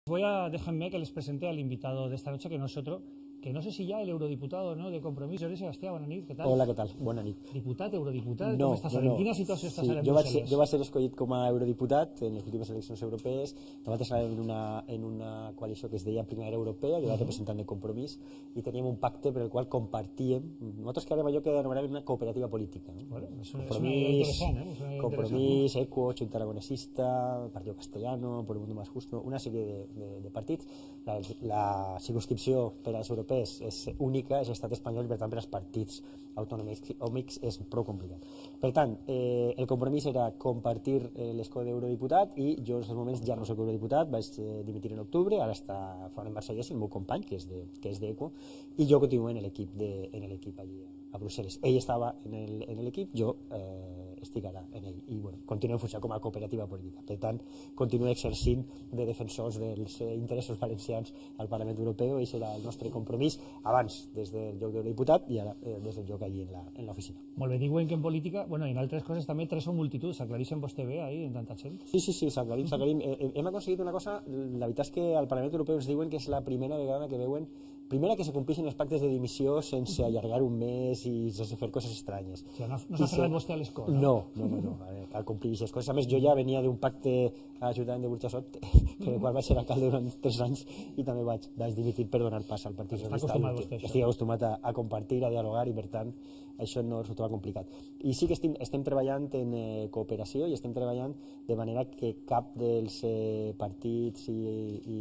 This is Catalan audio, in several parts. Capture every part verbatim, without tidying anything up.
Voy a, déjenme que les presente al invitado de esta noche, que no es otro, que no sé si ya el eurodiputado, ¿no?, de Compromís, Jordi Sebastià, bona nit, què tal? Hola, què tal? Bona nit. Diputat, eurodiputat, no, com estàs no, ara? no. En quina situació estàs sí, ara en jo vaig, Brussel·les? jo vaig ser escollit com a eurodiputat en les últimes eleccions europees. Nosaltres estàvem en una, en una coalició que es deia Primavera Europea, jo era representant de Compromís, i teníem un pacte per el qual compartíem. Nosaltres creàvem allò que anomenàvem una cooperativa política. No? Bueno, és una, Compromís, és una idea interessant, eh? És una idea Compromís, ECO, Junta Aragonesista, Partido Castellano, Por el Mundo Más Justo, una sèrie de, de, de partits. La, la circunscripció per als europeus és única, és l'estat espanyol, i per tant per als partits autonòmics és prou complicat. Per tant, eh, el compromís era compartir eh, l'escó d'eurodiputat, i jo en aquests moments ja no soc eurodiputat, vaig eh, dimitir en octubre, ara està fora en Barcelona el meu company, que és de, que és d'ECO, i jo continuo en l'equip de, en l'equip allí a Brussel·les. Ell estava en l'equip, jo eh, estic ara en ell, i bueno, continuem funcionant com a cooperativa política. Per tant, continuo exercint de defensors dels eh, interessos valencians al Parlament Europeu, i serà el nostre compromís, abans des del lloc d'eurodiputat i ara eh, des del lloc allí en l'oficina. Molt bé, diuen que en política, bueno, i en altres coses també, tres són multituds, s'aclareixen vostè bé ahí en tanta gent? Sí, sí, sí, s'aclarim, s'aclarim. Eh, hem aconseguit una cosa, la veritat és que al Parlament Europeu ens diuen que és la primera vegada que veuen primera, que se compleixin els pactes de dimissió sense allargar un mes i sense fer coses estranyes. O sigui, no, no s'ha ferrat vostè a l'escó, no? No, no, no, no. Cal complir aquestes coses. A més, jo ja venia d'un pacte a l'Ajuntament de Burjassot, per el qual vaig ser alcalde durant tres anys, i també vaig, vaig dimitir per donar pas al Partit Socialista. Estic acostumat a, a compartir, a dialogar, i per tant això no resultava complicat. I sí que estem, estem treballant en eh, cooperació, i estem treballant de manera que cap dels eh, partits i, i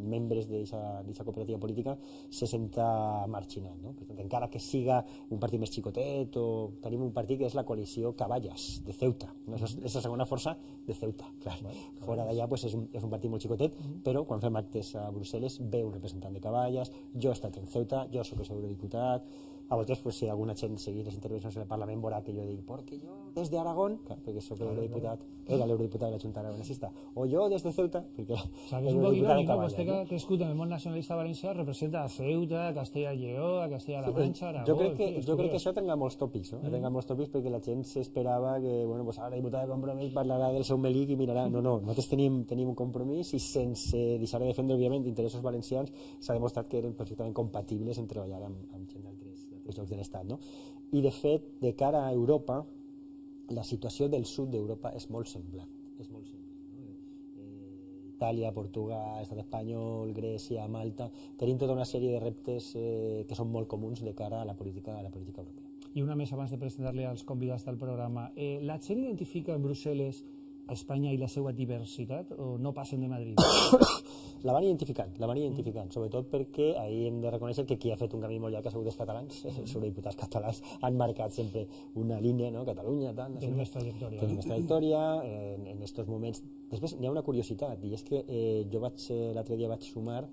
membres d'aquesta cooperativa política se senta marginat, no? Per tant, encara que siga un partit més xicotet, o tenim un partit que és la coalició Caballas, de Ceuta, no? És la segona força de Ceuta, clar. Fora d'allà pues, és, un, és un partit molt xicotet, però quan fem actes a Brussel·les ve un representant de Caballas, jo he estat en Ceuta, jo soc el eurodiputat. A vegades, pues, si alguna gent seguir les intervencions en el Parlament veurà que jo dic, perquè jo des d'Aragón, perquè soc l'eurodiputat, era l'eurodiputat de la Junta Aragonesista, o jo des de Ceuta, perquè o sea, és un poc irònic, no? Vostè que ha crescut en el món nacionalista valencià representa a Ceuta, a Castella i Lleó, a Castella-La Manxa, Aragó... Jo crec que, jo crec que això tenga molts tòpics, no? Mm. Tenga molts tòpics, perquè la gent s'esperava que, bueno, pues ara la diputada de Compromís parlarà del seu melic i mirarà... No, no, nosaltres tenim, tenim un compromís, i sense deixar de defendre, òbviament, interessos valencians, s'ha demostrat que eren perfectament compatibles en treballar amb, amb gent d'altres llocs de l'Estat, no? I de fet, de cara a Europa, la situació del sud d'Europa és molt semblant, és molt semblant, no? eh, Itàlia, Portugal, Estat espanyol, Grècia, Malta, tenim tota una sèrie de reptes eh, que són molt comuns de cara a la política, a la política europea. I una més abans de presentar-li als convidats del programa. Eh, la gent identifica en Brussel·les a Espanya i la seva diversitat, o no passen de Madrid? La van identificant, la van identificant, sobretot perquè ahir hem de reconèixer que qui ha fet un camí molt llarg ha sigut els catalans, els eurodiputats catalans han marcat sempre una línia, no? Catalunya, tant... Tenen més trajectòria. Tenen més trajectòria, en, en estos moments... Després n'hi ha una curiositat, i és que eh, jo vaig, l'altre dia vaig sumar,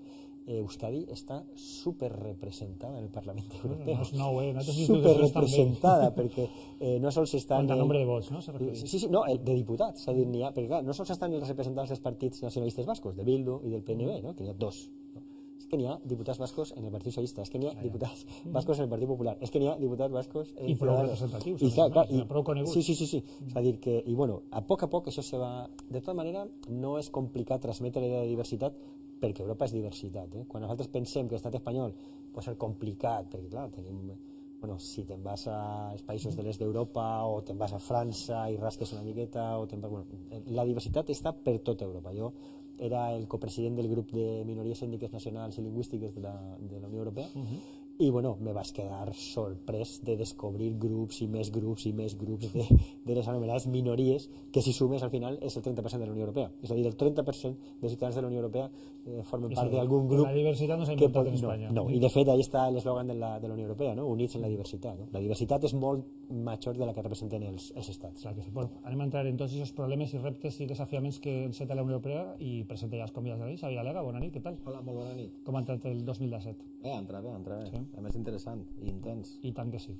eh, Euskadi està superrepresentada en el Parlament Europeu. No és nou, eh? Superrepresentada, perquè eh, no sols estan... Quant a nombre de vots, no? Sí, sí, no, de diputats, és a dir, n'hi ha... Perquè clar, no sols estan els representants dels partits nacionalistes bascos, de Bildu i del P N V, no? Que n'hi ha dos. És que n'hi ha diputats bascos en el Partit Socialista, és que n'hi ha diputats bascos en el Partit Popular, és que n'hi ha diputats bascos en... I prou representatius. I clar, clar, i... prou coneguts. Sí, sí, sí, sí. És a dir que, i bueno, a poc a poc això se va... De tota manera, no és complicat transmetre la idea de diversitat, perquè Europa és diversitat, eh? Quan nosaltres pensem que l'estat espanyol pot ser complicat, perquè clar, tenim... Bueno, si te'n vas als països de l'est d'Europa, o te'n vas a França i rasques una miqueta, o te'n vas... Bueno, la diversitat està per tota Europa. Jo era el copresident del grup de minories ètniques nacionals i lingüístiques de la, de la Unió Europea, uh-huh. I bueno, me vaig quedar sorprès de descobrir grups i més grups i més grups de, de les anomenades minories, que si sumes al final és el trenta per cent de la Unió Europea. És a dir, el trenta per cent dels ciutadans de la Unió Europea eh, formen part d'algun grup... La diversitat no s'ha inventat en Espanya. No, no, i de fet ahí està l'eslògan de, la, de la Unió Europea, no? Units en la diversitat. No? La diversitat és molt major de la que representen els, els estats. Clar que sí. Bueno, anem a entrar en tots aquests problemes i reptes i desafiaments que enceta la Unió Europea, i presenta ja els convidats d'ahir. Xavier Alega, bona nit, què tal? Hola, molt bona nit. Com ha entrat el dos mil disset? Bé, entra bé, entra bé. Sí. A més interessant y intens. Y tan que sí.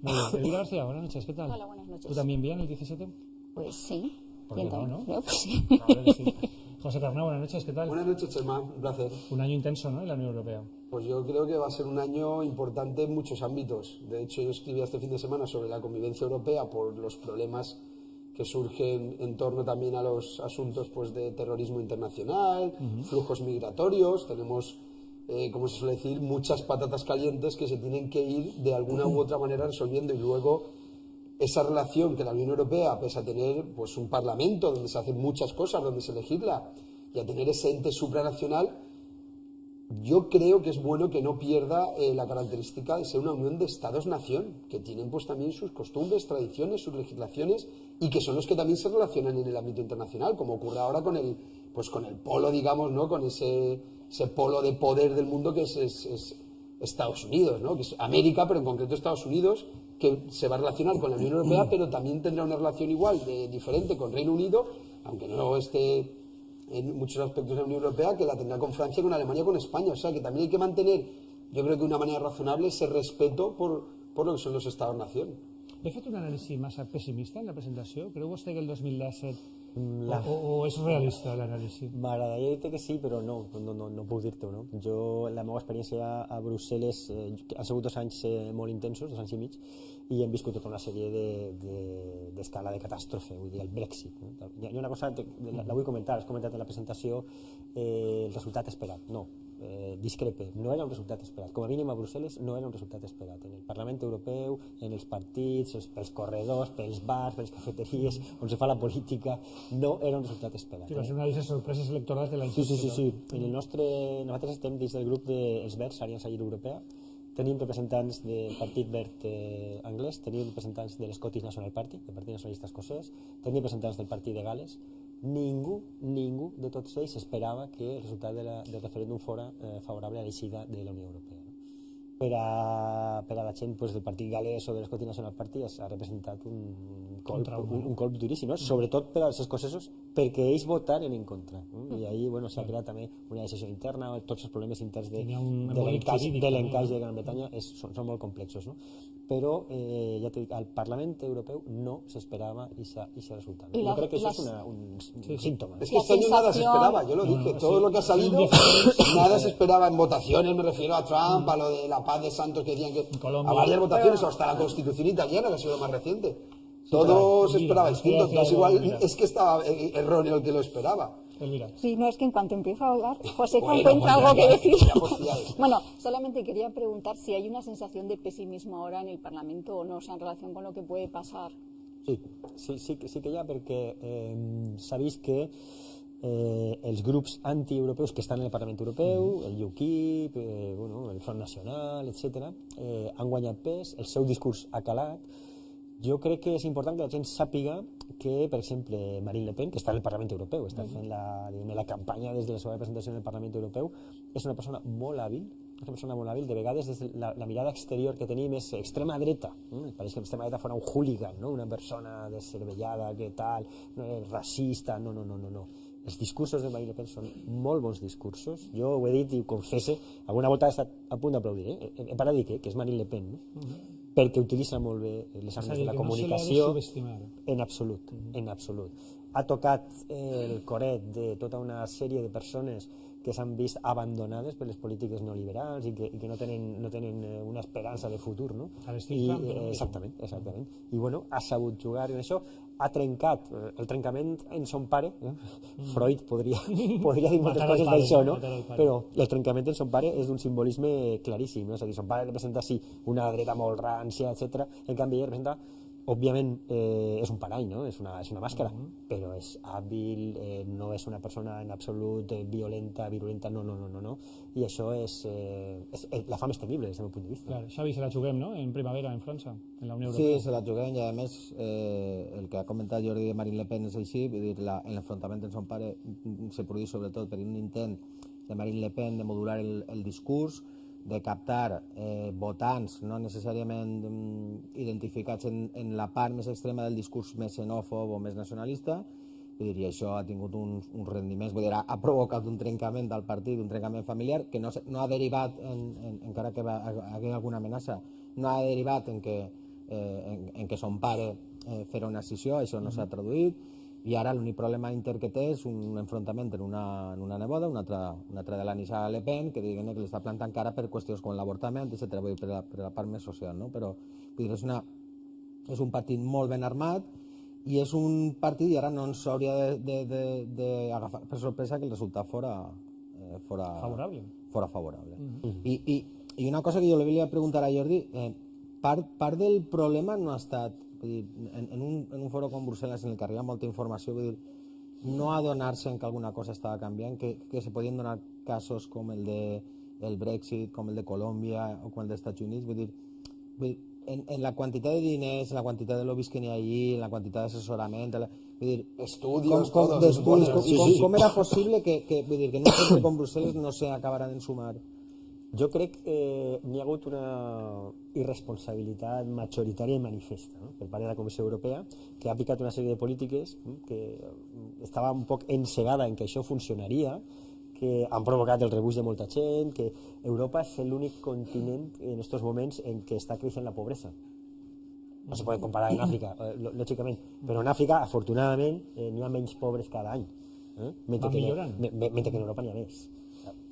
Muy bien. Elvira García, buenas noches, ¿qué tal? Hola, buenas noches. ¿Tú también bien el diecisiete? Pues sí. ¿Por qué no, no? Yo, pues sí. Claro que sí. José Carnau, buenas noches, ¿qué tal? Buenas noches, Chema, un placer. Un año intenso, ¿no?, en la Unión Europea. Pues yo creo que va a ser un año importante en muchos ámbitos. De hecho, yo escribí este fin de semana sobre la convivencia europea por los problemas que surgen en torno también a los asuntos pues, de terrorismo internacional, uh-huh. flujos migratorios. Tenemos, eh, como se suele decir, muchas patatas calientes que se tienen que ir de alguna u otra manera resolviendo, y luego esa relación que la Unión Europea, pese a tener pues, un parlamento donde se hacen muchas cosas, donde se legisla, y a tener ese ente supranacional, yo creo que es bueno que no pierda eh, la característica de ser una unión de Estados-nación, que tienen pues también sus costumbres, tradiciones, sus legislaciones, y que son los que también se relacionan en el ámbito internacional, como ocurre ahora con el, pues con el polo, digamos, ¿no? Con ese, ese polo de poder del mundo que es, es, es Estados Unidos, ¿no? Que es América, pero en concreto Estados Unidos, que se va a relacionar con la Unión Europea, pero también tendrá una relación igual, de, diferente con Reino Unido, aunque no esté en muchos aspectos de la Unión Europea, que la tendrá con Francia, con Alemania, con España. O sea, que también hay que mantener, yo creo que de una manera razonable, ese respeto por, por lo que son los Estados-nación. He fet un anàlisi massa pessimista en la presentació? Creu vostè que el dos mil disset La... o, o és realista l'anàlisi? M'agradaria dir-te que sí, però no, no, no, no puc dir-t'ho, no? Jo, la meva experiència a Brussel·les eh, han sigut dos anys eh, molt intensos, dos anys i mig, i hem viscut tota una sèrie d'escala de, de, de catàstrofe, vull dir, el Brexit. No? Hi ha una cosa, la, la vull comentar, has comentat en la presentació eh, el resultat esperat. No, eh, discrepe, no era un resultat esperat. Com a mínim a Brussel·les no era un resultat esperat. En el Parlament Europeu, en els partits, pels corredors, pels bars, pels cafeteries, on se fa la política, no era un resultat esperat. Sí, va ser una de les sorpreses electorals de l'any. Sí, sí, sí, sí. En el nostre, nosaltres estem dins del grup dels Verds, Aliança Lliure Europea. Tenim representants del Partit Verd eh, anglès, tenim representants de l'Scottish National Party, del Partit Nacionalista Escocès, tenim representants del Partit de Gales. Ningú, ningú de tots ells esperava que el resultat de la, del referèndum fora eh, favorable a l'eixida de la Unió Europea. No? Per, a, per a la gent pues, del Partit Galès o de l'Scottish National Party ha representat un colp, un, un colp duríssim, no? Sobretot per als escocesos, perquè ells votaren en contra. No? I ahí bueno, s'ha creat també una decisió interna, tots els problemes interns de, de l'encaix de, de Gran Bretanya és, són, són molt complexos. No? Però eh, ja dic, al Parlament Europeu no s'esperava aquest resultat. ¿no? Yo creo que eso es una, un, un sí, síntoma. ¿no? Es que este año nada se esperaba, yo lo dije, no, todo sí, lo que ha salido, nada se esperaba en votaciones, me refiero a Trump, a lo de la paz de Santos que decían que Colombia, a varias votaciones, pero... hasta la Constitución italiana, que ha sido lo más reciente. Sí, todo se esperaba distinto, entonces igual mira. Es que estaba erróneo el que lo esperaba. Elvira. Sí, no, es que en cuanto empiezo a hablar, José bueno, encuentra bueno, algo que decir. Pues Bueno, solamente quería preguntar si hay una sensación de pesimismo ahora en el Parlamento o no, o sea, en relación con lo que puede pasar. Sí, sí, sí, sí que hi ha, perquè eh, s'ha vist que eh, els grups antieuropeus que estan en el Parlament Europeu, el UKIP, eh, bueno, el Front Nacional, etcètera, eh, han guanyat pes, el seu discurs ha calat. Jo crec que és important que la gent sàpiga que, per exemple, Marine Le Pen, que està en el Parlament Europeu, està fent la, la campanya des de la seva representació en el Parlament Europeu, és una persona molt hàbil, és una persona molt hàbil, de vegades des de la, la mirada exterior que tenim és extrema dreta, no? Pareix que l'extrema dreta fora un hooligan, no? Una persona descervellada, que tal, no, racista, no, no, no, no, no. Els discursos de Marine Le Pen són molt bons discursos, jo ho he dit i ho confesse, alguna volta he estat a punt d'aplaudir, eh? he, he parat de dir que, que és Marine Le Pen, no? Uh -huh. Perquè utilitza molt bé les armes de la comunicació, en absolut, en absolut. Ha tocat el coret de tota una sèrie de persones que s'han vist abandonades per les polítiques neoliberals i que, i que no tenen, no tenen una esperança de futur, no? I, eh, exactament, exactament. I bueno, ha sabut jugar en això, ha trencat el trencament en son pare, eh? Freud podria, podria dir moltes coses d'això, no? Però el trencament en son pare és d'un simbolisme claríssim, no? És a dir, son pare representa sí una dreta molt rància, etcètera. En canvi ell representa, òbviament, eh, és un parany, no? És una, és una màscara, uh-huh. Però és hàbil, eh, no és una persona en absolut eh, violenta, virulenta, no, no, no, no, no. I això és, eh, és, és la fa més temible des del meu punt de vista. Clar, Xavi, se la juguem, no?, en primavera, en França, en la Unió Europea. Sí, se la juguem, i a més, eh, el que ha comentat Jordi de Marine Le Pen és així, vull dir, l'enfrontament en son pare se produeix sobretot per un intent de Marine Le Pen de modular el, el discurs, de captar eh, votants no necessàriament mm, identificats en, en la part més extrema del discurs més xenòfob o més nacionalista, i diria, això ha tingut uns, uns rendiments, vull dir, ha, ha provocat un trencament del partit, un trencament familiar, que no, no ha derivat, en, en, encara que va, hi ha alguna amenaça, no ha derivat en que, eh, en, en que son pare eh, fera una escissió, això no s'ha traduït, i ara l'únic problema inter que té és un enfrontament en una, en una neboda, una altra, una altra de la Nisha Le Pen, que diguen que li està plantant cara per qüestions com l'avortament, etcètera, vull dir, per la, per la part més social, no? Però vull dir, és, una, és un partit molt ben armat i és un partit i ara no ens hauria d'agafar per sorpresa que el resultat fora, eh, fora favorable. Fora favorable. Mm-hmm. I, i, I una cosa que jo li volia preguntar a Jordi, eh, part, part del problema no ha estat, vull dir, en, en, un, en un foro com Brussel·les en el que arriba molta informació, vull dir, no adonar-se en que alguna cosa estava canviant, que, que se podien donar casos com el de el Brexit, com el de Colòmbia o com el dels Estats Units, vull dir, vull dir en, en la quantitat de diners, en la quantitat de lobbies que n'hi ha allí, en la quantitat d'assessorament, vull dir, estudios, com, com, todos, estudios, com, sí, com, sí. com era possible que, que, vull dir, que en un centre com Brussel·les no se acabaran en sumar? Jo crec que eh, n'hi ha hagut una irresponsabilitat majoritària i manifesta, no? Per part de la Comissió Europea, que ha aplicat una sèrie de polítiques, no? Que estava un poc encegada en que això funcionaria, que han provocat el rebuig de molta gent, que Europa és l'únic continent en aquests moments en què està creixent la pobresa. No se pot comparar amb Àfrica, lògicament, però en Àfrica, afortunadament, eh, n'hi ha menys pobres cada any, eh? mentre, que, me, mentre que en Europa n'hi ha més.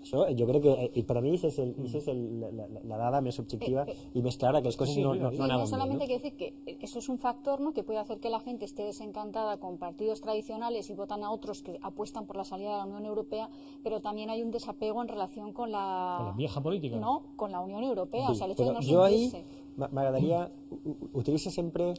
Això jo crec que, i per a mi, això és, el, això és el, la, la dada més objectiva eh, eh, y más clara, que las cosas sí, no, no, no, no solamente hay que decir que eso es un factor, ¿no?, que puede hacer que la gente esté desencantada con partidos tradicionales y votan a otros que apuestan por la salida de la Unión Europea, pero también hay un desapego en relación con la, con la vieja política, no, con la Unión Europea, sí, o sea, el hecho de no jo sentirse. Ahí m'agradaria, utilitza sempre,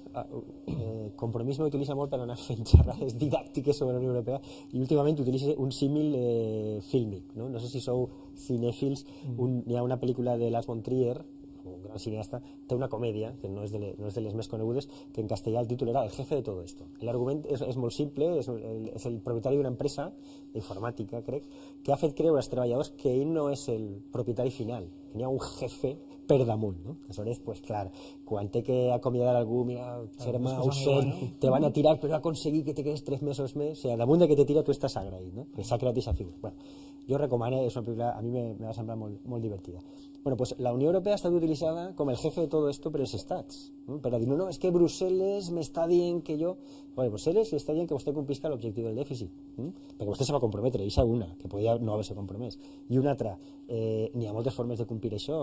eh, Compromís m'utilitza molt per anar fent xerrades didàctiques sobre la Unió Europea i últimament utilitza un símil eh, fílmic, no? No sé si sou cinèfils, un, hi ha una pel·lícula de Lars von Trier, un gran cineasta, té una comèdia, que no és, de le, no és de les més conegudes, que en castellà el títol era El jefe de todo esto. L'argument és, és molt simple, és el, és el propietari d'una empresa d'informàtica, crec, que ha fet creure als treballadors que ell no és el propietari final, que n'hi ha un jefe per damunt, no? Aleshores, pues clar, quan té que acomiadar algú, mira, Xerma, Ausent, te van a tirar, però ha aconseguit que te quedes tres mesos més, o sigui, damunt de que te tira tu estàs agraït, no? Que s'ha creat aquesta figura. Bueno, jo recomano, és una pel·lícula, a mi me, me va semblar molt, molt divertida. Bueno, pues la Unió Europea ha estat utilitzada com el jefe de tot esto per els estats, no? Per a dir, no, no, és que Brussel·les m'està dient que jo... Bueno, Brussel·les li està dient que vostè complisca l'objectiu del dèficit, ¿no? Perquè vostè se va comprometre, i és una, que podia no haver-se compromès. I una altra, eh, n'hi ha moltes formes de complir això,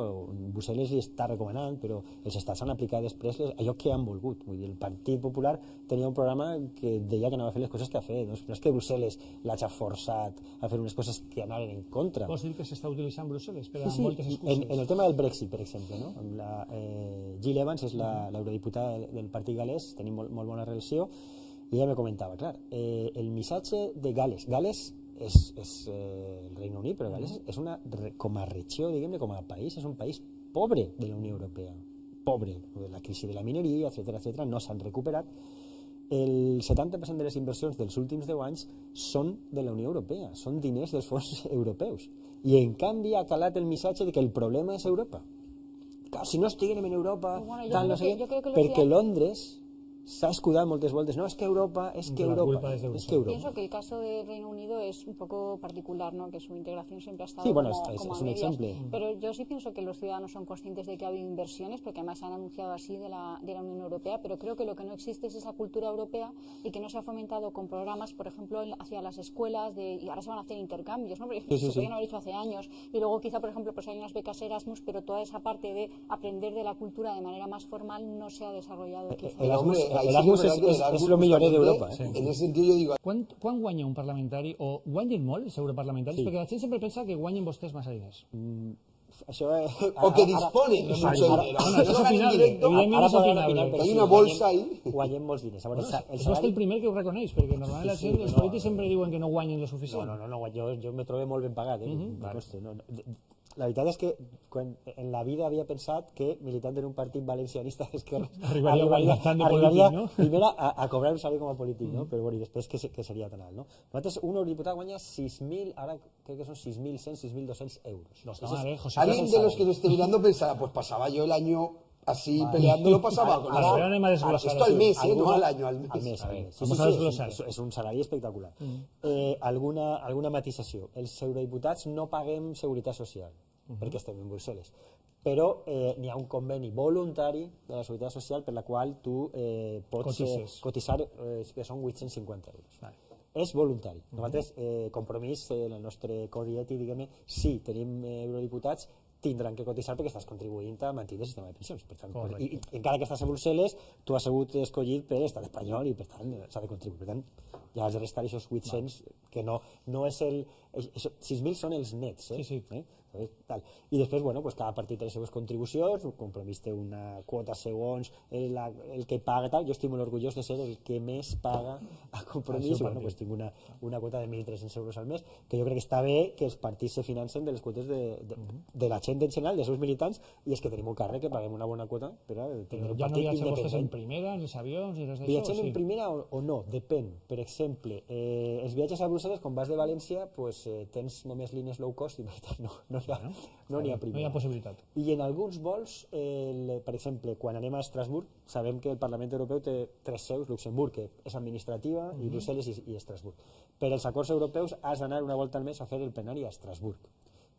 Brussel·les li està recomanant, però els estats han aplicat després allò que han volgut. Vull dir, el Partit Popular tenia un programa que deia que anava a fer les coses que ha fet, no és que Brussel·les l'hagi forçat a fer unes coses que anaven en contra. Vols dir que s'està utilitzant Brussel·les per a sí, sí, moltes excuses? En, en el tema del Brexit, per exemple, no? Amb la, eh, Jill Evans és l'eurodiputada del, del Partit Galès, tenim molt, molt bona relació, i ella me comentava, clar, eh, el missatge de Gales, Gales és, és eh, el Regne Unit, però Gales és una, com a regió, diguem-ne, com a país, és un país pobre de la Unió Europea, pobre, la crisi de la mineria, etcètera, etcètera, no s'han recuperat. El setanta per cent de les inversions dels últims deu anys són de la Unió Europea, són diners dels fons europeus. I en canvi ha calat el missatge de que el problema és Europa. Clar, si no estiguem en Europa, bueno, tal, no sé què, perquè Londres s'ha escudat moltes voltes, no, es que Europa, es que Europa, es, es que Europa. Pienso que el caso de Reino Unido es un poco particular, ¿no? Que su integración siempre ha estado sí, bueno, como, es, como es a un medias, ejemplo. Pero yo sí pienso que los ciudadanos son conscientes de que ha habido inversiones, porque además han anunciado así de la, de la Unión Europea, pero creo que lo que no existe es esa cultura europea y que no se ha fomentado con programas, por ejemplo, hacia las escuelas, de, y ahora se van a hacer intercambios, ¿no? Porque sí, sí, se podían sí. haber hecho hace años, y luego quizá, por ejemplo, pues hay unas becas Erasmus, pero toda esa parte de aprender de la cultura de manera más formal no se ha desarrollado. Quizá. El Erasmus, el Erasmus es, es, és el millor d'Europa. Sí. En aquest sentit jo dic... Quan, quan guanya un parlamentari, o guanyen molt els europarlamentaris? Sí. Perquè la gent sempre pensa que guanyen vostès massa diners. Mm, això és... O que disponen de mucho dinero. Bueno, això és opinable, evidentment és opinable. Hay una bolsa ahí. Guanyem molts diners. Bueno, és vostè el primer que ho reconeix, perquè normalment la gent, els polítics sempre diuen que no guanyen lo suficient. No, no, no, jo, jo me trobo molt ben pagat, eh? Uh-huh. Vale. No, no, la veritat és que quan en la vida havia pensat que militant en un partit valencianista d'esquerra arribaria, arribaria, arribaria polític, no? primer a, a cobrar un salari com a polític, no? Però bueno, i després que, que seria tan alt, no? Nosaltres, un eurodiputat guanya sis mil, ara crec que són sis mil cent, sis mil dos-cents euros. No està mal, eh, José? Alguien de los que lo esté mirando pensará, pues pasaba yo el año así vale. peleando, lo pasaba con ahora, ahora anem a desglosar. Esto al mes, ¿eh? No al año, al mes. Al mes, al mes. Sí, Vamos sí, a sí, desglosar. És, és un salari espectacular. Mm. Eh, alguna, alguna matisació. Els eurodiputats no paguem seguretat social, uh-huh. perquè estem en Brussel·les. Però eh, n'hi ha un conveni voluntari de la Seguretat Social per la qual tu eh, pots eh, cotitzar, eh, que són vuit-cents cinquanta euros. Vale. És voluntari. Uh-huh. Nosaltres, eh, compromís, eh, en el nostre codi ètic, diguem-ne, sí, tenim eh, eurodiputats tindran que cotitzar perquè estàs contribuint a mantenir el sistema de pensions. Per tant, i, i, encara que estàs a Brussel·les, tu has sigut escollit per estat espanyol i per tant s'ha de contribuir. Per tant, ja has de restar aquests vuit-cents, que no, no és el... sis mil són els nets, eh? Sí, sí. Eh? Tal. I després, bueno, pues cada partit té les seves contribucions, un Compromís té una quota segons el, la, el que paga, tal. Jo estic molt orgullós de ser el que més paga a Compromís, i bueno, pues tinc una, una quota de mil tres-cents euros al mes, que jo crec que està bé que els partits se financen de les quotes de, de, de la gent en general, dels seus militants, i és que tenim un càrrec que paguem una bona quota per a tenir un ja partit no independent. vostès en primera, en els avions i res d'això? Viatgem sí. en primera o, o no, depèn. Per exemple, eh, els viatges a Brussel·les, quan vas de València, pues, eh, tens només línies low cost i per tant no, no hi ha, Bueno, no n'hi ha primera. No hi ha possibilitat. I en alguns vols, el, per exemple, quan anem a Estrasburg, sabem que el Parlament Europeu té tres seus, Luxemburg, que és administrativa, mm-hmm. i Brussel·les i, i Estrasburg. Per als acords europeus has d'anar una volta al mes a fer el plenari a Estrasburg.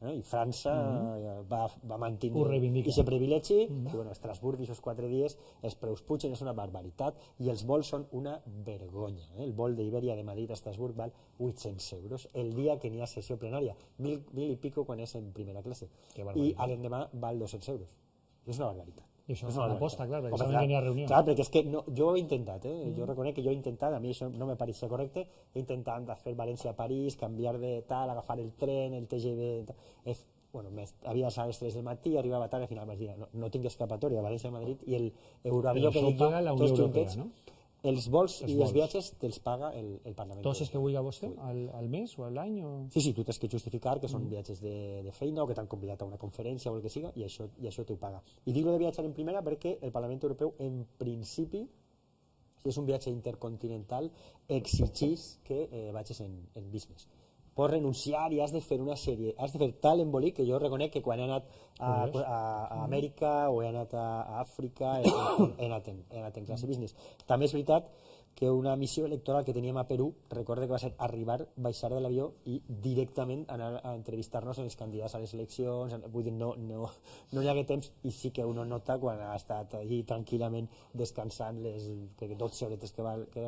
Eh? I França mm-hmm. va, va mantenir aquest privilegi, mm-hmm. i bueno, Estrasburg i aquests quatre dies els preus pugen, és una barbaritat, i els vols són una vergonya. Eh? El vol d'Iberia de Madrid a Estrasburg val vuit-cents euros el dia que n'hi ha sessió plenària, mil, mil i pico quan és en primera classe, i a l'endemà val dos-cents euros. És una barbaritat. I això és una aposta, clar, perquè saben clar, que n'hi ha reunió. Clar, perquè és que no, jo ho he intentat, eh? Mm. Jo reconec que jo he intentat, a mi això no me pareixia correcte, he intentat fer València a París, canviar de tal, agafar el tren, el T G V, he, bueno, havia a les tres del matí, arribava tard, al final vaig dir, no, no tinc escapatòria a València a Madrid, i el Euroavió que dic jo, paga la Unió Europea, no? Els vols els i vols. els viatges te'ls paga el, el Parlament. Tots els que vulgui vostè, al, al mes o a l'any? O... Sí, sí, tu tens que justificar que són mm. viatges de, de feina o que t'han convidat a una conferència o el que siga, i això, i això t'ho paga. I dic de viatjar en primera perquè el Parlament Europeu, en principi, si és un viatge intercontinental, exigís que eh, vagis en, en business. Pots renunciar i has de fer una sèrie, has de fer tal embolic que jo reconec que quan he anat a, a, a Amèrica o he anat a, a Àfrica he, he, anat en, he anat en classe business. També és veritat que una missió electoral que teníem a Perú, recorde que va ser arribar, baixar de l'avió i directament anar a entrevistar-nos amb els candidats a les eleccions, vull dir, no, no, no hi hagué temps, i sí que uno nota quan ha estat allí tranquil·lament descansant les dotze horetes que, va, que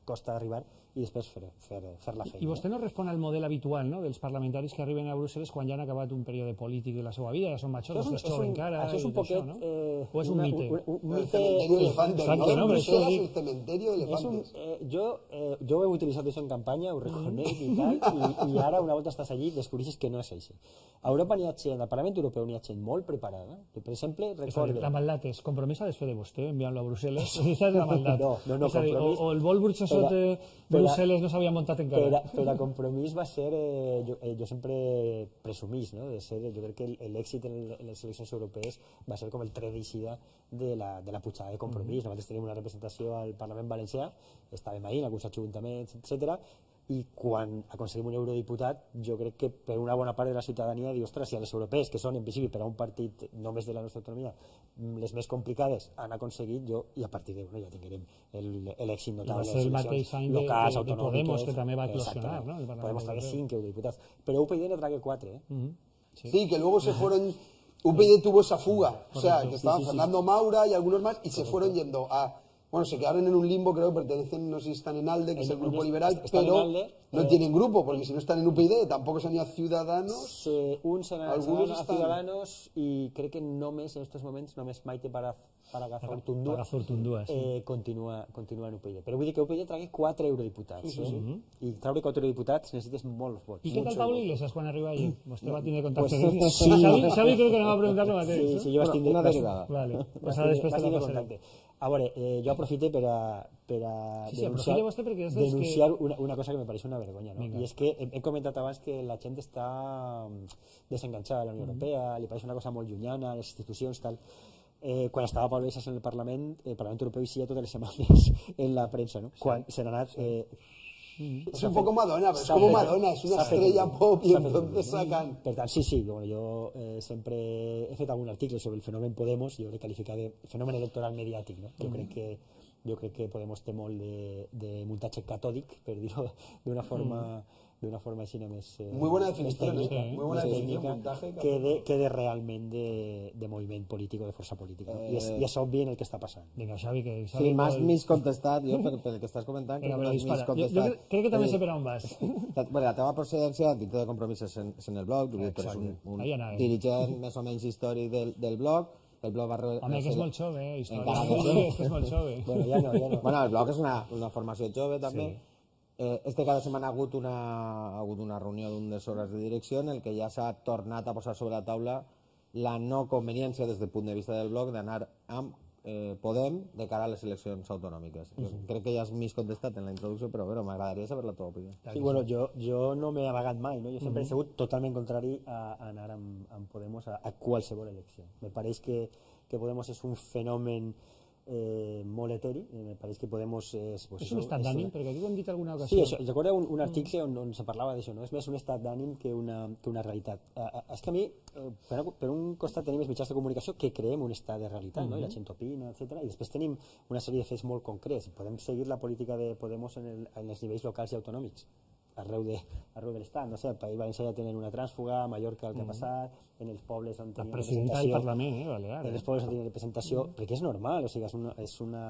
costa arribar, i després fer, fer, fer la feina. I vostè no respon al model habitual, no?, dels parlamentaris que arriben a Brussel·les quan ja han acabat un període polític de la seva vida, ja són majors, no és jove encara. Això és un poquet... No? Eh, o és un una, mite? Un, un, un el cementerio de elefantes, Exacte, ¿no? no? Bruselas, el cementerio de elefantes. Un, eh, jo, eh, jo he utilitzat això en campanya, ho reconec i tal, i, i ara una volta estàs allí descobreixes que no és així. A Europa n'hi ha gent, al Parlament Europeu n'hi ha gent molt preparada. Per exemple, recorde... La maldat és compromís a desfer de vostè, enviant-lo a Brussel·les. Aquesta és la maldat. No, no, no, dir, o, o el vol Burxosot de Brussel·les no s'havia muntat encara. Per a, per a Compromís va ser, eh, jo, eh, jo sempre presumís, no?, de ser, jo crec que l'èxit en, en les eleccions europees va ser com el tret d'eixida de la, de la pujada de Compromís. Mm-hmm. Nosaltres tenim una representació al Parlament Valencià, estàvem ahí en alguns ajuntaments, etcètera, i quan aconseguim un eurodiputat, jo crec que per una bona part de la ciutadania diu, ostres, si a les europees, que són en principi per a un partit només de la nostra autonomia, les més complicades han aconseguit, jo, i a partir d'una ja tinguem l'èxit notable de les eleccions locals, autonòmiques, de Podemos, que també va eclosionar, ¿no? Podemos traer cinc eurodiputats, pero U P Y no trae cuatro, ¿eh? Uh-huh. Sí. sí, que luego se fueron... U P Y tuvo esa fuga, o sea, que estaban sí, sí, Fernando sí. Maura y algunos más, y se fueron yendo a... Bueno, se quedaron en un limbo, creo que pertenecen, no sé si están en ALDE, que es el grupo liberal, pero ALDE, no eh, tienen grupo, porque si no están en U P Y D, tampoco se han ido a Ciudadanos. Eh, uns han anat a están... Ciudadanos, i crec que només en aquests moments, només Maite para, para Pagazaurtundúa sí. eh, continua, continua en U P Y D. Però vull dir que U P Y D tragui quatre eurodiputats. Sí, sí, sí. Eh? I traure quatre eurodiputats necessites molts vots. I què tal Pablo Iglesias quan arriba allí? Vostè va tindre contacte pues, amb ell. Sí, Xavi, Xavi crec que no va preguntar lo mateix. Sí, sí, jo vaig tindre... Una derivada. Vale, pues ara després te la passaré. A veure, eh, jo aprofito per a, per a sí, sí, denunciar, vostè perquè denunciar que... una, una cosa que me pareix una vergonya, no? I és que he, he comentat abans que la gent està desenganxada de la Unió Europea, mm-hmm. li pareix una cosa molt llunyana, les institucions, tal. Eh, quan estava Pablo Iglesias en el Parlament, el Parlament Europeu eixia totes les setmanes en la premsa, no? Quan se n'ha anat... Eh, Mm. Es un poco Madonna, pero es como Madonna, es una estrella pop y entonces sacan... Per tant, sí, sí, bueno, jo eh, sempre he fet algun article sobre el fenomen Podemos, jo l'he qualificat de fenomen electoral mediàtic, no? Jo mm. crec que jo crec que Podemos té molt de, de muntatge catòdic, per dir-ho d'una forma mm. de una forma així més... Eh, muy buena definición, tècnica, ¿eh? Muy buena més definición, tècnica, montaje, quede, quede realment de, de moviment polític o de força política. No? Eh, I, és, I és obvi en el que està passant. Vinga, Xavi, que... Sí, Xavi m'has vol- mig contestat, jo per, per el que estàs comentant, Vinga, crec que però m'has dispara. mig Jo, jo contestat. crec, crec que també Eh, sé per on vas. La, bueno, la teva procedència dintre de Compromís és en, és en el blog, tu eres un, un Ahí anàvem. dirigent més o menys històric del, del blog. El blog va... re- Home, que és ser- molt jove, eh, història. Encara que Sí, sí. és que és molt jove. Bueno, ja no, ja no. Bueno, el blog és una, una formació jove també. Sí. Eh, este cada setmana ha hagut una, ha hagut una reunió d'unes hores de direcció en el que ja s'ha tornat a posar sobre la taula la no conveniència des del punt de vista del blog d'anar amb eh, Podem de cara a les eleccions autonòmiques. Jo crec que ja has mig contestat en la introducció, però bueno, m'agradaria saber la teva opinió. Sí, bueno, jo, jo no m'he amagat mai, no? Jo sempre he sigut totalment contrari a, a anar amb, amb Podemos a, a qualsevol elecció. Me pareix que, que Podemos és un fenomen eh, molt eteri, eh, me pareix que Podemos és... Pues, És un estat d'ànim, perquè aquí ho hem dit alguna Sí, ocasió. això, recordo un, un article on, on se parlava d'això, no? És més un estat d'ànim que una, que una realitat. Uh, uh, és que a mi, uh, per, per un costat tenim els mitjans de comunicació que creem un estat de realitat, no? I la gent opina, etcètera. I després tenim una sèrie de fets molt concrets. Podem seguir la política de Podemos en, el, en els nivells locals i autonòmics arreu de, arreu de l'estat, no sé, al País Valencià ja tenen una trànsfuga, a Mallorca el que ha passat, en els pobles on La tenien presidenta del representació, Parlament, eh, Balear. en els pobles on tenien representació, perquè és normal, o sigui, és una, és una,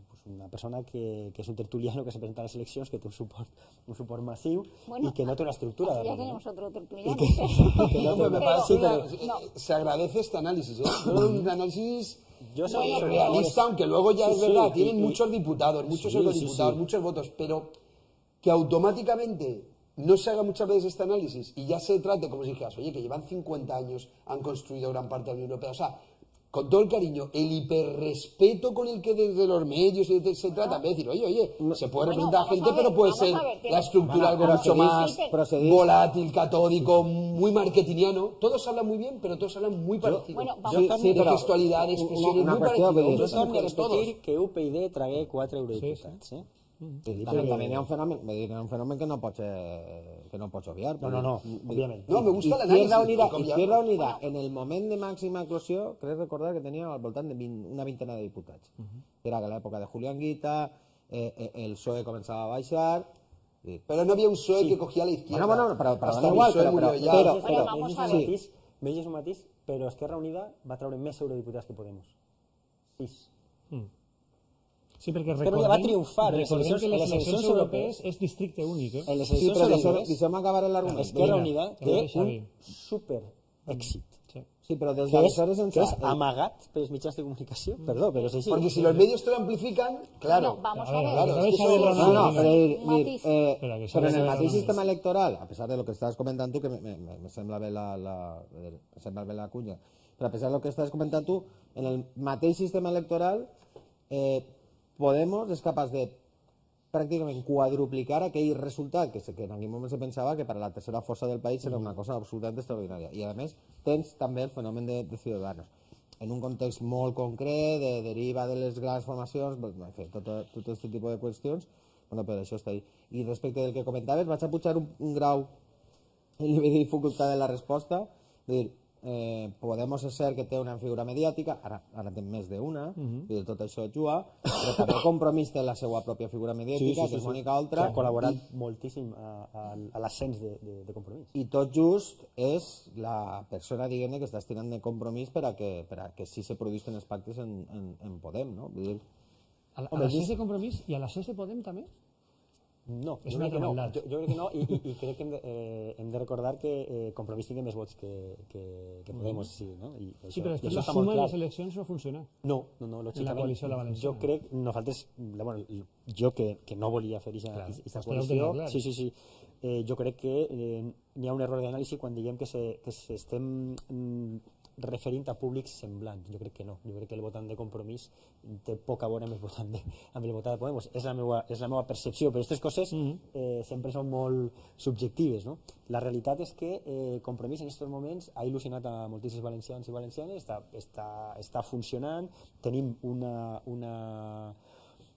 pues una persona que, que és un tertuliano que se presenta a les eleccions, que té un suport, un suport massiu Bueno, i que no té una estructura. Ya darrere, tenemos ¿no? otro tertuliano. Que no No, pero té- me Pero- parece sí, pero- una- no. se agradece este análisis, ¿eh? Yo creo que un análisis Yo soy- eh, realista, aunque luego ya Sí, es sí, verdad, y- tienen y- muchos diputados, muchos Sí, eurodiputados, sí, sí. muchos votos, pero que automáticamente no se haga muchas veces este análisis y ya se trate como si dijeras, oye, que llevan cincuenta años, han construido gran parte de la Unión Europea, o sea, con todo el cariño, el hiperrespeto con el que desde los medios se, se trata, en vez de decir, oye, oye, se puede Bueno, representar a vamos gente, a ver, pero puede vamos ser a ver, tiene- la estructura Bueno, algo pero mucho seguís- más procedís- volátil, catódico, muy marketingiano. Todos hablan muy bien, pero todos hablan muy parecido. Bueno, vamos- Sí, Sí, de però- gestualidad, de expresiones, una muy qüestió, parecido. vull dir, Hombres y Jo torno a mujeres, todos. repetir que U P YD tragué quatre eurodiputats. Eh? I també, també hi ha un fenomen, vull dir, que hi ha un fenomen que no pots, eh, que no pots obviar. No, no, no, òbviament. No, me gusta l'análisis. Izquierda Unida, com ja- Izquierda Unida, en el moment de màxima eclosió, crec recordar que tenia al voltant de vint, una vintena de diputats. Era que a l'època de Julián Guita, eh, eh, el P S O E començava a baixar... i- Pero no había un P S O E que cogía a la izquierda. Bueno, bueno, però- però Hasta da el igual, P S O E però- murió però- ya. però- Però, Però vamos a és ver. un matís, m'he un matís, però Esquerra Unida va treure més eurodiputats que Podemos. Sis. Sí, perquè Esquerra Unida va recordem, triomfar en les recordem eleccions- que en les les eleccions eleccions europees és districte únic, eh? En les Sí, eleccions però deixem, europees, deixem acabar l'argument. Esquerra Vinga, Unida que té vagi Xavi. un super èxit. Sí. Sí, però des Que és, d'aleshores que ençà... és amagat pels mitjans de comunicació. Perdó, però és així. Porque si los medios te lo amplifican, claro. No, vamos A a ver, ver. claro, que es que acabe Xavi somos- Ramón. No, no, Vinga. però dir, Un dir, matís. eh, Espera, que però Xavi en el Ramón mateix és. sistema electoral, a pesar de lo que estàs comentant tu, que me, me, me sembla bé la, la, me sembla bé la cunya, però a pesar de lo que estàs comentant tu, en el mateix sistema electoral eh, Podemos és capaç de pràcticament quadruplicar aquell resultat que, se- que en aquell moment se pensava que per a la tercera força del país era una cosa absolutament extraordinària. I a més tens també el fenomen de, de Ciudadanos en un context molt concret, de deriva de les grans formacions, doncs, en fi, tot, tot aquest tipus de qüestions, bueno, però això està ahí. I respecte del que comentaves, vaig a pujar un, un grau el nivell de dificultat de la resposta, dir, eh, Podemos és cert que té una figura mediàtica, ara, ara té més d'una, uh -huh. dir, tot això juga, però també Compromís té la seva pròpia figura mediàtica, que és Mònica Que Oltra, ha col·laborat moltíssim a, a, a l'ascens de, de, de Compromís. i tot just és la persona, diguem-ne, que està estirant de Compromís per a que, per a que sí se produïsquen els pactes en, en, en Podem, no? Vull dir, A, la- a les sis de Compromís i a les sis de Podem també? No, És jo una crec que no. altra Jo, jo crec que no, i, i, i crec que hem de, eh, hem de recordar que eh, Compromís tingui més vots que, que, que Podemos, sí, no? I això, Sí, però i després això la està suma molt de clar. les eleccions no funciona. No, no, no, lògicament. coalició de la Valenciana. Jo crec, nosaltres, bueno, jo que, que no volia fer aquesta Clar, aquesta vostè ja ho coalició, tenia clar. sí, sí, sí, eh, jo crec que eh, n'hi ha un error d'anàlisi quan diguem que, se, que se estem mm, referint a públics semblants. Jo crec que no. Jo crec que el votant de Compromís té poc a veure amb el votant de, amb el votant de Podemos. És la meva, és la meva percepció, però aquestes coses eh, sempre són molt subjectives, no? La realitat és que eh, Compromís en aquests moments ha il·lusionat a moltíssims valencians i valencianes, està, està, està funcionant, tenim una, una,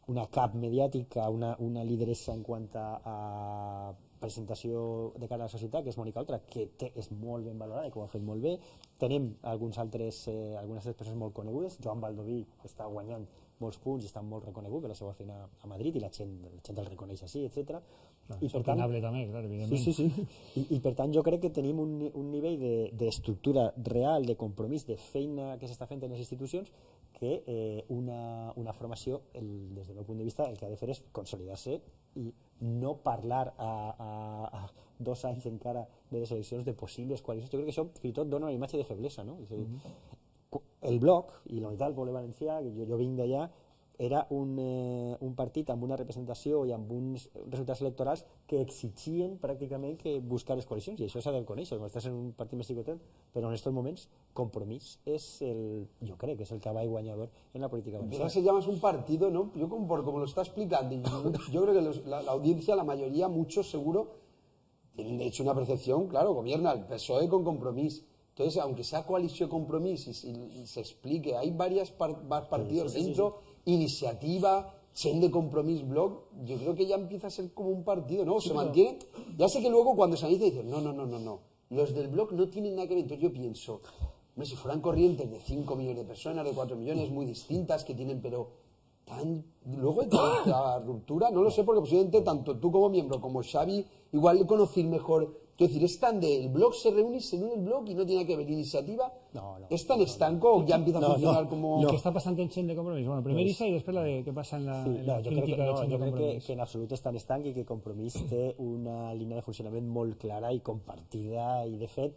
una cap mediàtica, una, una lideressa en quant a, a presentació de cara a la societat, que és Mònica Oltra, que té, és molt ben valorada i que ho ha fet molt bé. Tenim alguns altres, eh, algunes altres persones molt conegudes. Joan Baldoví està guanyant molts punts i està molt reconegut per la seva feina a Madrid i la gent, la gent el reconeix així, etcètera. I per tant, també, clar, evidentment. Sí, sí, sí. I, I per tant jo crec que tenim un, un nivell d'estructura de, real, de compromís, de feina que s'està fent en les institucions, que eh, una, una formació, el, des del meu punt de vista, el que ha de fer és consolidar-se i no parlar a, a, a dos anys encara de les eleccions de possibles coalicions. Jo crec que això fins i tot dona una imatge de feblesa, no? És a dir, mm-hmm. el Bloc i la Unitat del Poble Valencià, que jo, jo vinc d'allà, era un, eh, un partit amb una representació i amb uns resultats electorals que exigien pràcticament que buscar les coalicions, i això s'ha de conèixer, quan estàs en un partit més xicotet, però en aquests moments Compromís és el, jo crec que és el cavall guanyador en la política valenciana. Se llama un partido, ¿no? Yo como, por, como lo está explicando, yo, yo creo que los, la, la audiencia, la mayoría, muchos seguro, tienen de hecho una percepción, claro, gobierna el P S O E con Compromís. Entonces, aunque sea coalición Compromís y, y, y se explique, hay varios par, partidos sí, sí, dentro, sí, sí. Iniciativa, Chen de Compromís, Bloc, yo creo que ya empieza a ser como un partido, ¿no? Se sí, mantiene. Ya sé que luego cuando se analiza dicen, no, no, no, no, no. Los del Bloc no tienen nada que ver. Entonces yo pienso, hombre, si fueran corrientes de cinco millones de personas, de cuatro millones, muy distintas, que tienen, pero tan, luego de la ruptura, no lo sé, porque posiblemente tanto tú como miembro, como Xavi, igual le conocí mejor. Quiero decir, es tan de el Bloc se reúne y se une el Bloc y no tiene que ver iniciativa. No, no, ¿Es tan estanco o ya empieza a no, funcionar no, como...? No. ¿Qué está pasando en Chen de Compromís? Bueno, primero Isa y después la de qué pasa en la, sí, en la no, jo crítica crec que, no, de Chen jo de crec Compromís. que, que en absolut és tan estanc i que Compromís té una línia de funcionament molt clara i compartida i, de fet,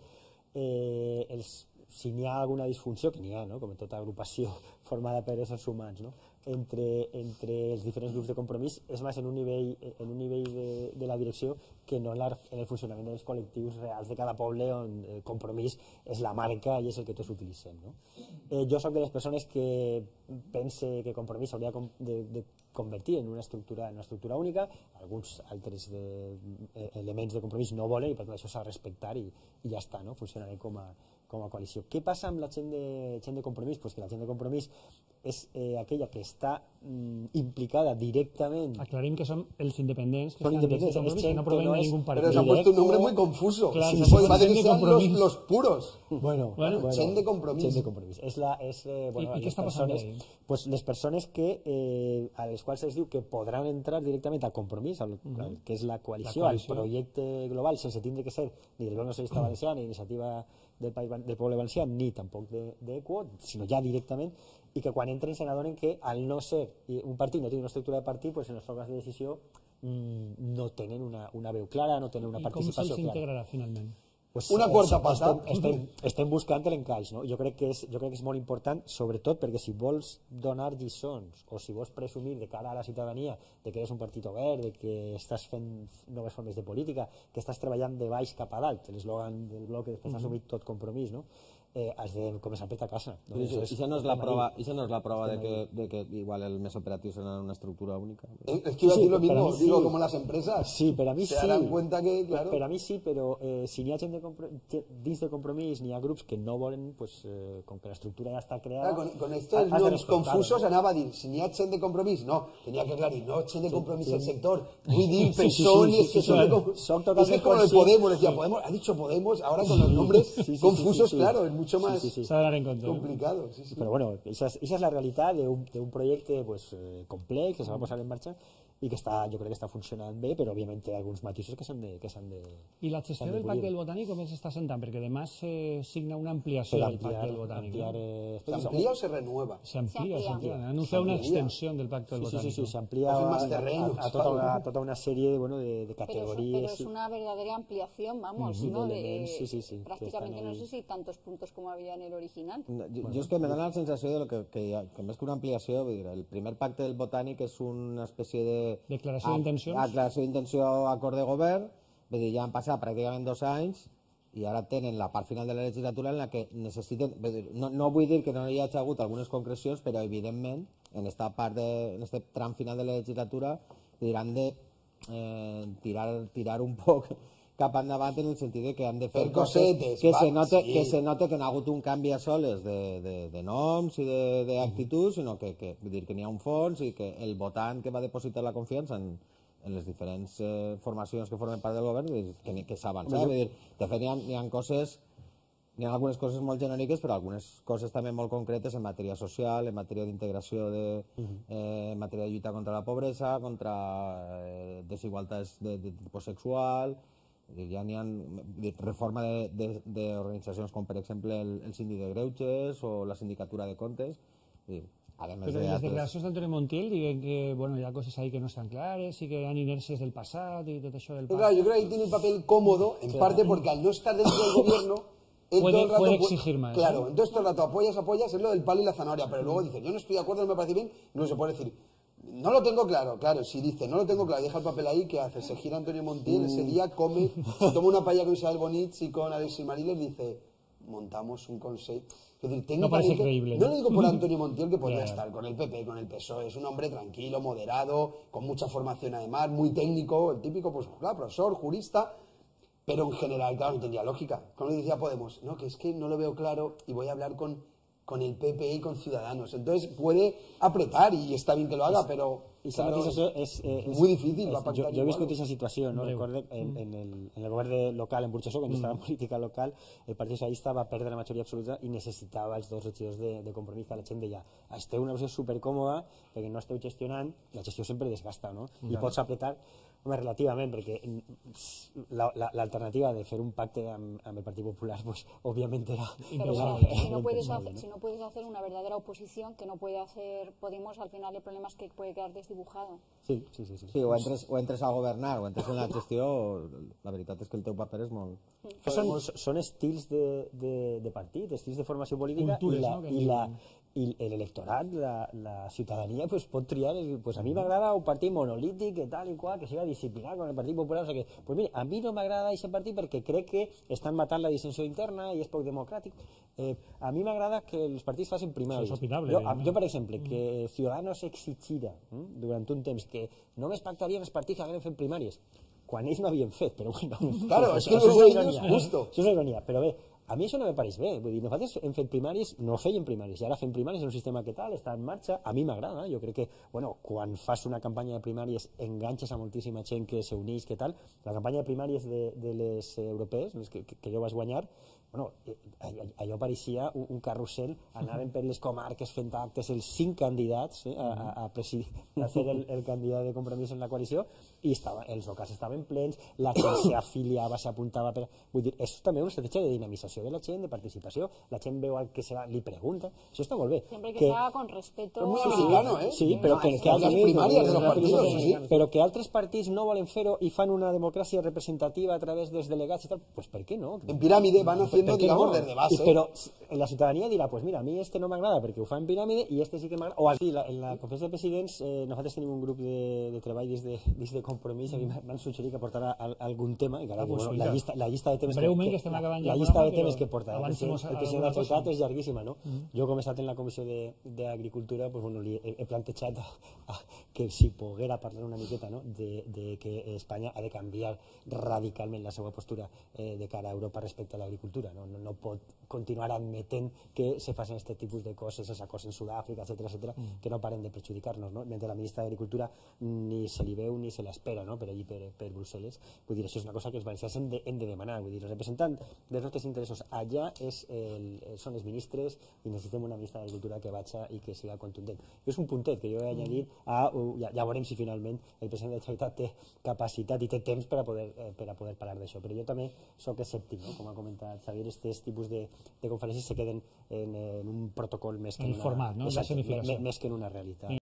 eh, els, si n'hi ha alguna disfunció, que n'hi ha, no? Com en tota agrupació formada per éssers humans, no? entre, entre els diferents grups de Compromís és més en un nivell, en un nivell de, de la direcció que no en, la, en el funcionament dels col·lectius reals de cada poble on el Compromís és la marca i és el que tots utilitzem, no? Eh, jo soc de les persones que pense que Compromís s'hauria de, de convertir en una estructura, en una estructura única. Alguns altres de, eh, elements de Compromís no volen i per tant això s'ha de respectar i, i ja està, no? Funcionarem com a, com a coalició. Què passa amb la gent de, gent de Compromís? Pues que la gent de Compromís és eh, aquella que està mm, implicada directament. Aclarim que són els independents que son estan independents, dins de Compromís, que no provienen no de es, ningún partido. Pero se ha puesto un nombre muy confuso. Claro, sí, sí, pues sí, parece sí, que de sean los, Compromís. los puros. Bueno, bueno, bueno, Chen de Compromís. Chen de Compromís. És la, és, eh, bueno, I, I què està persones, passant ahí? Pues les persones que, eh, a les quals es diu que podran entrar directament a Compromís, al, uh -huh. que és la coalició, la coalició, al projecte global, sense tindre que ser ni del Bloc Nacionalista Valencià, ni Iniciativa del, país, del Poble Valencià, ni tampoc d'Equo, de, sinó ja directament, i que quan entren se n'adonen que al no ser un partit, no té una estructura de partit, pues en els òrgans de decisió mmm, no tenen una, una veu clara, no tenen una I participació com clara. se'ls integrarà finalment? Pues una quarta pata. Estem, estem, estem buscant l'encaix, no? Jo crec que és, jo crec que és molt important, sobretot perquè si vols donar lliçons o si vols presumir de cara a la ciutadania de que eres un partit obert, de que estàs fent noves formes de política, que estàs treballant de baix cap a dalt, l'eslògan del bloc que després ha assumit tot Compromís, no? Eh, has de començar per ta casa. No? I això no és la prova, això no és la prova de que, de que igual el més operatiu serà una estructura única. Es que iba a decir lo mismo, digo, sí. Como las empresas sí, per a mi se sí. darán cuenta que, claro... Per a mi sí, però eh, si n'hi ha gent de dins de Compromís, n'hi ha grups que no volen, pues, eh, com que l'estructura ja està creada... Claro, con, con estos noms confusos anava a dir, si n'hi ha gent de Compromís, no, tenia que aclarir, no, gent de Compromís sí, el sector, vull dir, persones que son de Compromís. Es que es como el Podemos, decía, Podemos, ha dicho Podemos, ahora con los nombres confusos, claro, es mucho más... En compte, complicado, sí, sí. Però bueno, esa és, esa és la realitat d'un projecte pues, eh, complex que se va posar en marxa i que està, jo crec que està funcionant bé, però òbviament té alguns matisos que s'han de, que s'han de... I la gestió del Pacte del Botànic com s'està sentant? Perquè demà se signa una ampliació del Pacte del Botànic. Ampliar, eh, ¿Se amplía o se renueva? Se amplía, se amplía. Han anunciado una extensión del Pacte del Botànic. Sí, sí, sí, se amplía a, a, a, tota, una, tota una serie de, bueno, de, de categorías. Pero, pero es una verdadera ampliación, vamos, uh -huh. ¿no? De, sí, sí, sí, prácticamente no sé si tantos puntos como había en el original. No, jo, bueno. jo és que me dona la sensació de lo que, que, ha, que més que una ampliació, vull dir, el primer Pacte del Botànic és una espècie de... Declaració d'intencions. Declaració d'intenció, acord de govern, vull dir, ja han passat pràcticament dos anys i ara tenen la part final de la legislatura en la que necessiten... Dir, no, no vull dir que no hi hagi hagut algunes concrecions, però evidentment en esta part de, en este tram final de la legislatura han de eh, tirar, tirar un poc cap endavant en el sentit de que han de fer per coses que, va, se note, sí. que se note que no ha hagut un canvi a soles de, de, de noms i d'actituds, sinó que, que, vull dir, que n'hi ha un fons i que el votant que va depositar la confiança en, en les diferents eh, formacions que formen part del govern, que, que s'ha avançat. Vull dir, de fet, hi ha, hi ha coses Hi ha algunes coses molt genèriques, però algunes coses també molt concretes en matèria social, en matèria d'integració, de, eh, en matèria de lluita contra la pobresa, contra eh, desigualtats de, de tipus sexual. Ja n'hi ha reforma d'organitzacions com, per exemple, el, el síndic de Greuges o la sindicatura de comptes. I, Pero de las declaracions d'Antonio Montiel diuen que bueno, hi ha coses ahí que no están clares y que hi ha inèrcies del passat y tot això del passat. Claro, yo creo que ahí tiene un papel cómodo, en parte porque al no estar dentro del gobierno, él puede, todo el rato puede exigir más. Claro, entonces todo el rato apoyas, apoyas, es lo del palo y la zanahoria, pero luego dice, yo no estoy de acuerdo, no me parece bien, no se puede decir, no lo tengo claro, claro, si dice, no lo tengo claro, deja el papel ahí, ¿qué hace? Se gira Antonio Montiel, ese día come, se toma una paella con Isabel Bonich y con Alexis Mariles, dice, montamos un consejo. Es decir, no parece creíble. No lo digo por Antonio Montiel, que podría estar con el P P, con el P S O E, es un hombre tranquilo, moderado, con mucha formación además, muy técnico, el típico, pues, claro, profesor, jurista, pero en general, claro, no tendría lógica. Como decía Podemos, no, que es que no lo veo claro y voy a hablar con, con el P P y con Ciudadanos. Entonces puede apretar y está bien que lo haga, pero... I claro, és, és, és, és molt difícil. És, jo, jo he viscut aquesta situació, no? Recordo en, en, el, en el govern local en Burxassó, quan mm. estava en política local, el Partit Socialista va perdre la majoria absoluta i necessitava els dos regidors de, de Compromís, que la gent deia, esteu en una posició supercòmoda perquè no esteu gestionant, la gestió sempre desgasta, no? I pots apretar, home, relativament, perquè l'alternativa de fer un pacte amb, amb el Partit Popular, pues, òbviament era... Pero bueno, si no, puedes hacer, si no puedes hacer una verdadera oposición, que no puede hacer Podemos, al final el problema es que puede quedar desdibujado. Sí, sí, sí. sí. sí o, entres, o entres a governar o entres en la gestió, la veritat és que el teu paper és molt... Són, són estils de, de, de partit, estils de formació política. Cultures, i la, no? I la, i l'electorat, la, la ciutadania, pues, pot triar, pues, a mi m'agrada un partit monolític, que tal i qual, que siga disciplinat con el Partit Popular, o sea que, pues mira, a mi no m'agrada aquest partit perquè crec que estan matant la dissensió interna i és poc democràtic. Eh, a mi m'agrada que els partits facin primàries. És opinable. Jo, jo, per exemple, que Ciudadanos exigirà eh, durant un temps que només pactarien els partits que hagueren fet primàries, quan ells no havien fet, però bueno... Claro, és que això és ironia, justo. Això és una ironia, però bé, a mi això no me pareix bé, vull dir, nosaltres hem fet primàries, no feien primàries, i ara fem primàries en un sistema que tal, està en marxa, a mi m'agrada, jo crec que, bueno, quan fas una campanya de primàries enganxes a moltíssima gent que s'uneix, que tal, la campanya de primàries de, de les europees, les que, que jo vaig guanyar, bueno, allò pareixia un, un carrusel, anaven per les comarques fent actes els cinc candidats eh, a, a, presidir, a ser el, el candidat de Compromís en la coalició, i estava, els locals estaven plens, la gent s'afiliava, s'apuntava per... Vull dir, això també és una estratègia de dinamització de la gent, de participació, la gent veu el que serà, li pregunta, això està molt bé. Sempre que, que sea con respeto... És muy americano, eh? Sí, però que, que, altres primàries de los partidos, sí. Però que altres partits no volen fer-ho i fan una democràcia representativa a través dels delegats i tal, pues per què no? En piràmide van haciendo, digamos, no? desde base. Y, pero la ciudadanía dirà, pues mira, a mi este no m'agrada perquè ho fa en piràmide i este sí que m'agrada. O aquí, la, en la conferència de presidents, eh, nosaltres tenim un grup de, de treball des de, des de Compromís, i m'han suggerit que portarà al, algun tema, i clar, bueno, la, llista, la llista de temes Breument, que, que, que, la, la llista de temes que porta el president, el president de la Generalitat és llarguíssima, no? Mm. Jo, com he estat en la Comissió d'Agricultura, pues, bueno, li he, he plantejat a, a, que si poguera parlar una miqueta, no?, de, de que Espanya ha de canviar radicalment la seva postura eh, de cara a Europa respecte a l'agricultura, no? No, no pot continuar admetent que se facin aquest tipus de coses, els acords en Sud-àfrica, etcètera, etcètera, mm. que no paren de perjudicar-nos, no? Mentre la ministra d'Agricultura ni se li veu ni se l'espera, no?, per allí, per, per Brussel·les. Vull dir, això és una cosa que els valencians hem de, hem de demanar. Vull dir, el representant dels nostres interessos allà és el, són els ministres i necessitem una ministra d'Agricultura que vagi i que siga contundent. És un puntet que jo he añadit a... Uh, ja, ja veurem si finalment el president de la Generalitat té capacitat i té temps per a poder, eh, per a poder parlar d'això. Però jo també soc escèptic, no?, com ha comentat Xavier, aquests tipus de, de conferències se queden en, en un protocol més que en, en un format, no? Exacte, més, més que en una realitat.